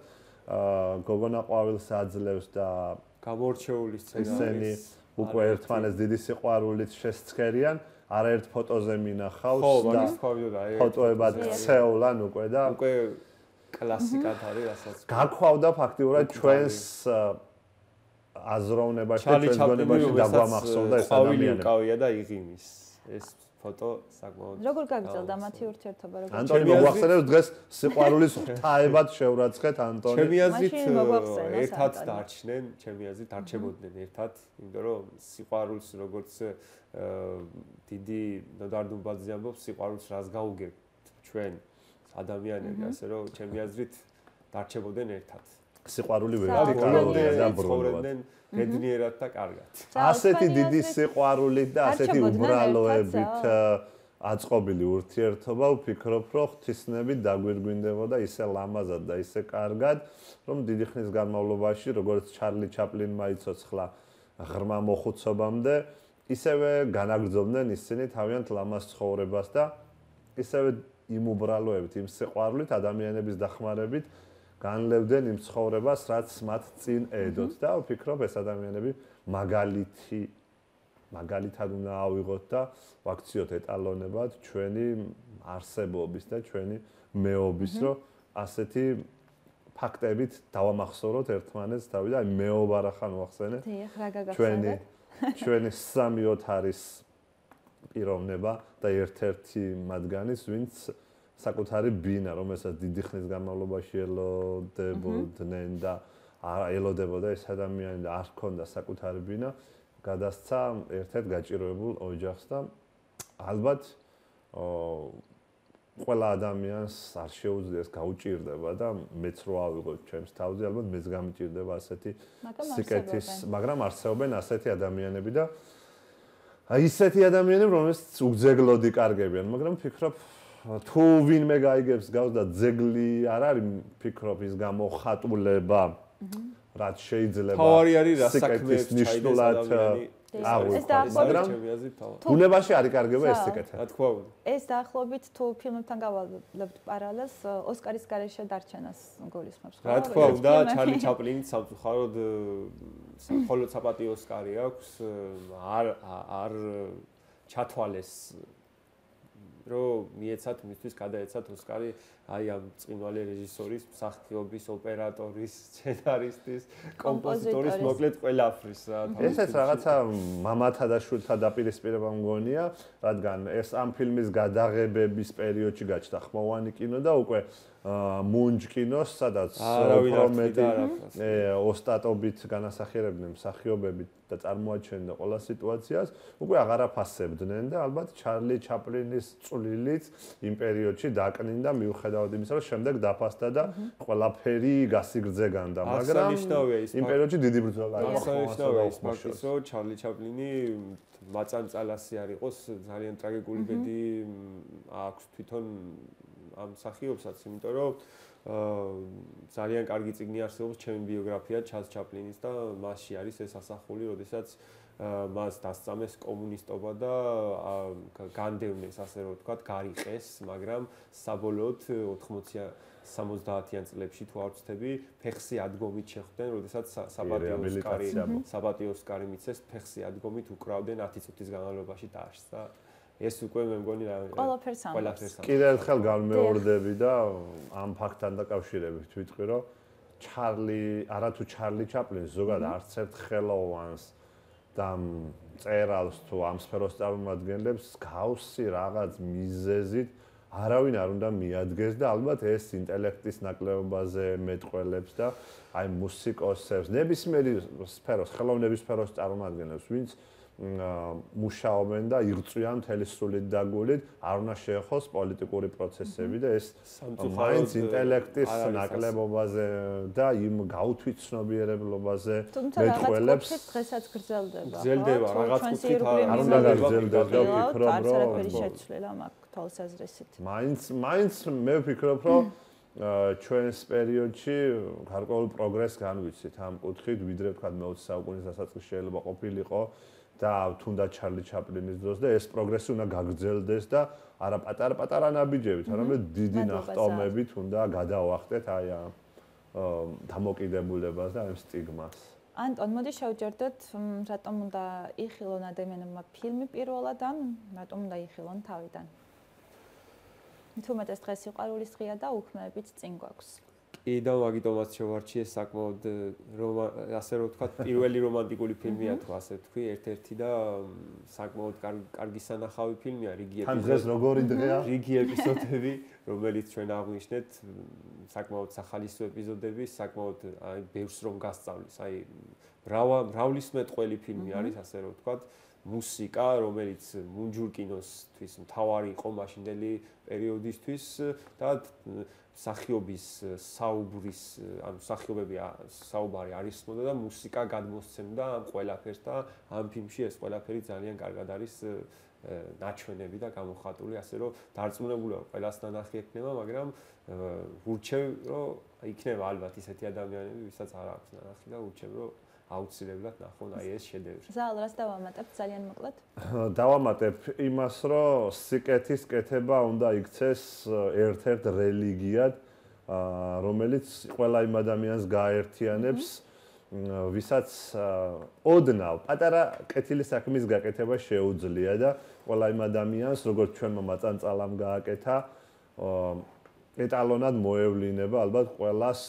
გოგონა ყვავილს აძლევს და გამორჩეული სცენაა უკვე ერთმანეთს დიდი სიყვარულით შესცქერიან, არაერთ ფოტოზე მინახავს და ფოტოებად ცეულან უკვე და უკვე კლასიკად არის, რასაც გაქვავდა ფაქტიურად ჩვენს აზროვნებაში და ჩვენს გონებაში დაგვამახსოვდა ეს ადამიანი. ყავია და იღიმის. ეს ფოტო საკმაოდ როგორ გაგრძელდა მათი ურთიერთობა, როგორ? ანტონი მოგვახსენებს დღეს სიყვარულის ღვთაებად შევრაცხეთ ანტონი. ჩემი აზრით ერთად დარჩნენ, ჩემი აზრით დარჩებოდნენ ერთად, იმიტომ რომ სიყვარულს როგორც დიდი ნოდარდუმბაძე ამბობს, სიყვარულს რას გაუგებთ ჩვენ ადამიანები, ასე რომ ჩემი აზრით დარჩებოდნენ ერთად. სიყვარული ვერტიკალურია და ბრუნავდნენ ბედნიერად და კარგად. ასეთი დიდი სიყვარულით და ასეთი უბრალოებით აწყობილი ურთიერთობა ვფიქრობ, რომ ღვთისნებით დაგვირგვინდებოდა ისე ლამაზად და ისე კარგად, რომ დიდი ხნის განმავლობაში, როგორც ჩარლი ჩაპლინმა იცოცხლა ღრმა მოხუცობამდე, ისევე განაგრძობდნენ ისინი თავიანთ ლამაზ ცხოვრებას და ისევე იმ უბრალოებით, იმ სიყვარულით, ადამიანების დახმარებით განლევდნენ იმ ცხოვრებას, რაც მათ წინ ედოთ და ვფიქრობ, ეს ადამიანები მაგალითად უნდა ავიღოთ და ვაქციოთ ეტალონებად ჩვენი არსებობის და ჩვენი მეობის, რომ ასეთი ფაქტებით დავამახსოვროთ ერთმანეთს თავი და მეობა რა ხან ვახსენე. ჩვენი 3-4 არის პიროვნება და ერთ-ერთი მათგანის, ვინც საკუთარი ბინა, რომელსაც დიდი ხნის განმავლობაში ელოდებოდნენ და ელოდებოდა ეს ადამიანი და არ ჰქონდა საკუთარი ბინა, გადასცა ერთ-ერთ გაჭიროებულ ოჯახს და ალბათ ყველა ადამიანს არ შეუძლიას გაუჭირდება და მეც რო ავიღოთ ჩემს თავზე, ალბათ მეც გამიჭირდება ასეთი სიკეთის, მაგრამ არსებობენ ასეთი ადამიანები და ისეთი ადამიანები, რომელსაც უგზეგლოდი კარგებიან, მაგრამ ფიქრობ თუ ვინმე გაიგებს გავს და ძეგლი არ არის, ფიქრობ ის გამოხატულება, რაც შეიძლება სიკეთის ნიშნულად აღვიქვას, მაგრამ ბუნებაში არ იკარგება ეს სიკეთე. რა თქმა უნდა. ეს დაახლოებით თუ ფილმებთან გავალებთ პარალელს, ოსკარის გარეშე დარჩენას გულისხმობს. რა თქმა უნდა, ჩარლი ჩაპლინი სამწუხაროდ მხოლოდ საპატიო ოსკარი აქვს, არ ჩათვალეს რომ მიეცათ მისთვის გადაეცათ ოსკარი აი ამ წინვალი რეჟისორის, მსახიობის, ოპერატორის, სცენარისტის, კომპოზიტორის, მოკლედ ყველაფრის რა. ესეც რაღაცა მამათა და შვილთა დაპირისპირება მგონია, რადგან ეს ამ ფილმის გადაღებების პერიოდში გაჩნდა ხმოვანი კინო და უკვე მუნჯ კინოს, სადაც პრომეტი ოსტატობით განასახიერებდნენ მსახიობებით და წარმოაჩენდნენ ყველა სიტუაციას, უკვე აღარ აფასებდნენ და ალბათ ჩარლი ჩაპლინის წვლილიც იმ პერიოდში დაკნინდა მიუხედავად იმისა, რომ შემდეგ დაფასდა და ყველაფერი გასიგრძე განდა, მაგრამ იმ პერიოდში დიდი ბრძოლა იყო. აღსანიშნავია ის ფაქტიც, რომ ჩარლი ჩაპლინი მაწანწალასი არ იყოს, ძალიან ტრაგიკული ბედი აქვს თვითონ ამ მსახიობსაც, იმიტომ რომ ძალიან კარგი წიგნი არსებობს ჩემი ბიოგრაფია ჩარლ ჩაპლინის და მასში არის ეს ასახული, როდესაც მას დასწამეს კომუნისტობა და განდევნეს, ასე რომ ვთქვათ, გარიყეს, მაგრამ საბოლოოდ 70-იან წლებში თუ არ ვცდები, ფეხსი ადგომით შეხვდნენ, როდესაც საპატიო ოსკარი მიცეს, ფეხსი ადგომით უკრავდნენ 10 წუთის განმავლობაში დააშს და ეს უკვე მე მგონი ყველაფერს კიდევ ერთხელ განმეორდები და ამ ფაქტთან დაკავშირებით ვიტყვი, რომ არათუ ჩარლი ჩაპლინს ზოგადად არც ერთ ხელოვანს და წერალს თუ ამ სფეროს წარმომადგენლებს გავსი რაღაც მიზეზით არავინ არ უნდა მიადგეს და ალბათ ეს ინტელექტის ნაკლებობაზე მეტყველებს და აი მუსიკოსებს, ნებისმიერი სფეროს, ხელოვნების სფეროს წარმომადგენლებს, ვინც მუშაობენ და იღწვიან მთელი სულით და გულით, არ უნდა შეეხოს პოლიტიკური პროცესები და ეს მაინც ინტელექტის ნაკლებობაზე და იმ გაუთვითცნობიერებლობაზე მეტყველებს. დღესაც გრძელდება. გრძელდება, რაღაც კუთხით არ უნდა გაგრძელდეს და ვფიქრობ, რომ არაფერი შეცვლილა მაგ თვალსაზრისით. მაინც მე ვფიქრობ, რომ ჩვენს პერიოდში გარკვეულ პროგრესს განვიცით ამ კუთხით, ვიდრე თქვა მე-20 საუკუნის დასაწყისში შეიძლება ყოფილიყო და თუნდაც ჩარლი ჩაპლინის დროს და ეს პროგრესი უნდა გაგრძელდეს და არა პატარ-პატარა ნაბიჯებით, არამედ დიდი ნახტომებით უნდა გადავახტეთ აი ამ დამოკიდებულებას და ამ სტიგმას. ანტონ, მოდი შევჯერდოთ, რატომ უნდა იხილონ ადამიანებმა ფილმი პირველად ან რატომ უნდა იხილონ თავიდან? თუმცა დღეს სიყვარულის დღეა და უქმეებიც წინ გვაქვს. კი და მაგიტომაც შევარჩიე საკმაოდ ასე რომ ვთქვათ, პირველი რომანტიკული ფილმია თუ ასე ვთქვი, ერთ-ერთი და საკმაოდ კარგი სანახავი ფილმია, რიგი ეპიზოდები, რომელიც ჩვენ აღვნიშნეთ, საკმაოდ სახალისო ეპიზოდები, საკმაოდ აი ბევრს რომ გასწავლის, აი მრავლისმეტყველი ფილმი არის, ასე რომ ვთქვათ. მუსიკა, რომელიც მუნჯურ კინოსთვის მთავარი იყო მაშინდელი პერიოდისთვის და მსახიობის საუბრის, ანუ მსახიობები საუბარი არისმოდა და მუსიკა გადმოსცემდა ამ ყველაფერს და ამ ფილმში ეს ყველაფერი ძალიან კარგად არის ნაჩვენები და გამოხატული, ასე რომ დარწმუნებული ვარ, ყველას ნანახი ექნება, მაგრამ ვურჩევ, რომ იქნება ალბათ ისეთი ადამიანები, ვისაც არ აქვს ნანახი და ვურჩევ, რომ აუცილებლად ნახონ აი ეს შედევრი. ზაალ, რას დავამატებ ძალიან მოკლედ? დავამატებ იმას, რომ სიკეთის კეთება უნდა იქცეს ერთ-ერთ რელიგიად, რომელიც ყველა იმ ადამიანს გააერთიანებს, ვისაც ოდნავ პატარა კეთილი საქმის გაკეთება შეუძლია და ყველა იმ ადამიანს, როგორც ჩვენმა მაწანწალამ გააკეთა, ეტალონად მოევლინება ალბათ ყველას,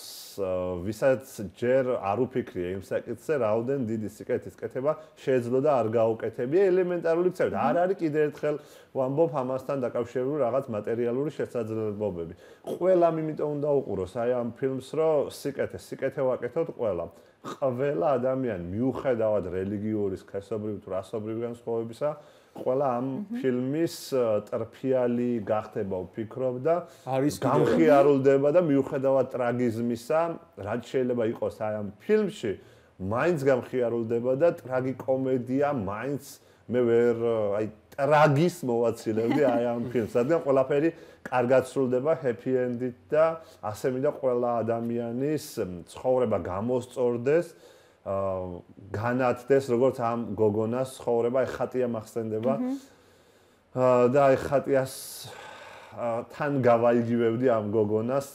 ვისაც ჯერ არ უფიქრია იმ საკითხზე, რაოდენ დიდი სიკეთის კეთება შეეძლო და არ გაუკეთებია ელემენტარული ცევრი. არ არის კიდევ ერთხელ ვამბობ ამასთან დაკავშირებული რაღაც მატერიალური შესაძლებლობები. ყველამ იმიტომ უნდა უყუროს აი ამ ფილმს, რომ სიკეთე ვაკეთოთ ყველამ. ყველა ადამიანი მიუხედავად რელიგიური, სქესობრივი თუ რასობრივი განსხვავებისა, ყველა ამ ფილმის ტრფიალი გახდება, ვფიქრობ და გამხიარულდება და მიუხედავად ტრაგიზმისა, რაც შეიძლება იყოს აი ამ ფილმში, მაინც გამხიარულდება და ტრაგიკომედია მაინც მე ვერ აი ტრაგის მოვაცილებდი აი ამ ფილმს, რადგან ყველაფერი კარგად სრულდება happy end-ით და ასე მინდა ყველა ადამიანის ცხოვრება გამოსწორდეს, განათდეს როგორც ამ გოგონას ცხოვრება, აი ხატია მახსენდება და აი ხატიას თან გავაიგივებდი ამ გოგონას,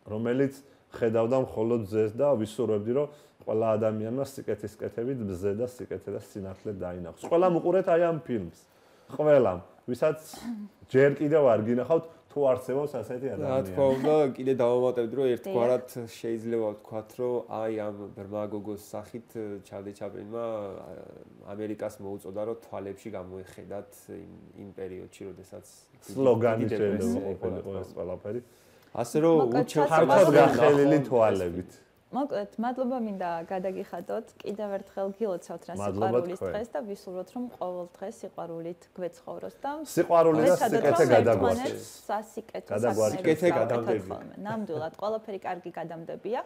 რომელიც ხედავდა მხოლოდ ძეს და ვისურვებდი, რომ ყველა ადამიანმა სიკეთის კეთებით მზე და სიკეთე და სინათლე დაინახოს. ყველამ უყურეთ აი ამ ფილმს. ყველამ, ვისაც ჯერ კიდევ არ გინახავთ თუ არსებობს ასეთი ადამიანი. რა თქმა უნდა, კიდე დავამატებდი, რომ ერთგვარად შეიძლება ვთქვათ, რომ აი ამ ბრმა გოგოს სახით ჩარლი ჩაპლინმა ამერიკას მოუწოდა, რომ თვალებში გამოიხედათ იმ პერიოდში, როდესაც სლოგანი შეიძლება ყოფილიყო ეს ყველაფერი. ასე რომ ხარკად გახელილი თვალებით. მოკლედ, მადლობა მინდა გადაგიხადოთ. კიდევ ერთხელ გილოცავთ რა სიყვარულის დღეს და ვისურვოთ, რომ ყოველ დღეს სიყვარულით გვეცხოვროს და სიყვარული და სიკეთე გადაგვარჩენს. სიკეთე გადამდები. ნამდვილად, ყველაფერი კარგი გადამდებია.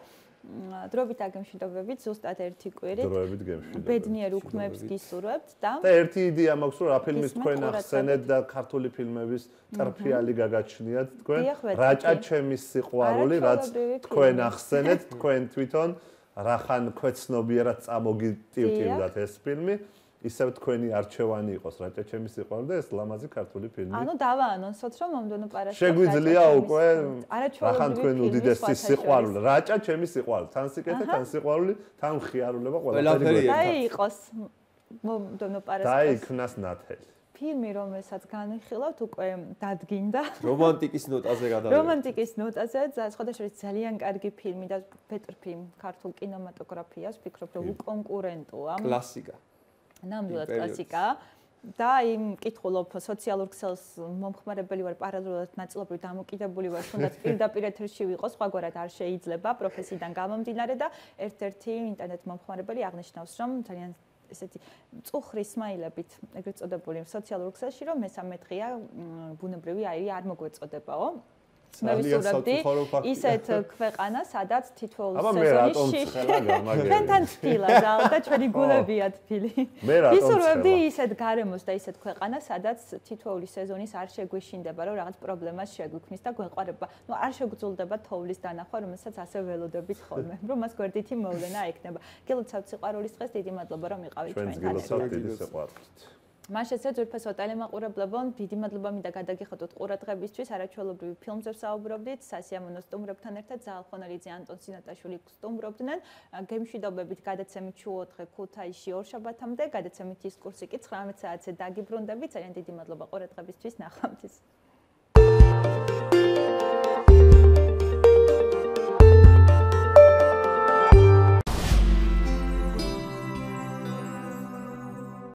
დროებით აგემშვიდობებით, ზუსტად ერთი კვირით. დროებით გემშვიდობებით. ბედნიერ უქმებს გისურვებთ და ერთი იდეა მაქვს, რომ რა ფილმის თქვენ ახსენეთ და ქართული ფილმების ტრფიალი გაგაჩნიათ თქვენ. რაჭა ჩემის სიყვარული, რაც თქვენ ახსენეთ, თქვენ თვითონ რახან ქვეცნობიერად წამოგიტივტივდათ ეს ფილმი. ისევ თქვენი არჩევანი იყოს რაჭა ჩემის სიყვარული და ეს ლამაზი ქართული ფილმი. ანუ დავაანონსოთ, რომ მომდევნო პარასკევს შეგვიძლია უკვე რახან თქვენ უდიდესი სიყვარული, რაჭა ჩემის სიყვარული, თან სიკეთე, თან სიყვარული, თან მხიარულება ყველაფერი. და იყოს მომდევნო პარასკევს. და იქნას ნათელი. ფილმი, რომელსაც განვიხილავთ, უკვე დადგინდა. რომანტიკის ნოტაზე გადავიდა. რომანტიკის ნოტაზე, სხვადასხვა ძალიან კარგი ფილმი და ბეტრფი ქართულ კინემატოგრაფიას, ვფიქრობ, რომ უკონკურენტოა. კლასიკა. ნამდვილად კლასიკა და იმ მკითხულობ სოციალურ ქსელს მომხმარებელი ვარ პარალელურად ნაწილობრივ დამოკიდებული ვარ თუნდაც პირდაპირ ეთერში ვიყოს სხვაგვარად არ შეიძლება პროფესიიდან გამომდინარე და ერთ-ერთი ინტერნეტ მომხმარებელი აღნიშნავს რომ ძალიან ესეთი წუხრი სმაილებით ეგრეთ წოდებული სოციალურ ქსელში რომ მესამე დღეა ბუნებრივი აირი არ მოგვეწოდებაო მე ვისურვებდი ისეთ ქვეყანა, სადაც თითოეულ სეზონში ჩვენთან თბილა და ჩვენი გულებია თბილი. ვისურვებდი ისეთ გარემოს და ისეთ ქვეყანა, სადაც თითოეული სეზონის არ შეგვიშინდება, რომ რაღაც პრობლემას შეგვიქმნის და გვეყარება. ნუ არ შეგძულდება თოვლის დანახვა, რომელსაც ასე ველოდებით ხოლმე, რომ მას გვერდითი მოვლენა ექნება. გილოცავთ სიყვარულის დღეს, დიდი მადლობა რომ იყავით ჩვენთან. ჩვენს გილოცავთ დიდი სიყვარულით. მაშეცე ძვირფასო ტელემაყურებლებო, დიდი მადლობა მინდა გადაგიხადოთ ყურადღებისთვის, არაჩვეულებრივი ფილმზე ვსაუბრობდით, სასიამოვნო სტუმრებთან ერთად ზაალხონელიძე, ანტონ სინატაშვილი სტუმრობდნენ. გემშვიდობებით გადაცემით შუოთხე ქუთაისში ორშაბათამდე, გადაცემით ის კურსი კი 19 საათზე დაგიბრუნდებით. ძალიან დიდი მადლობა ყურადღებისთვის, ნახვამდის.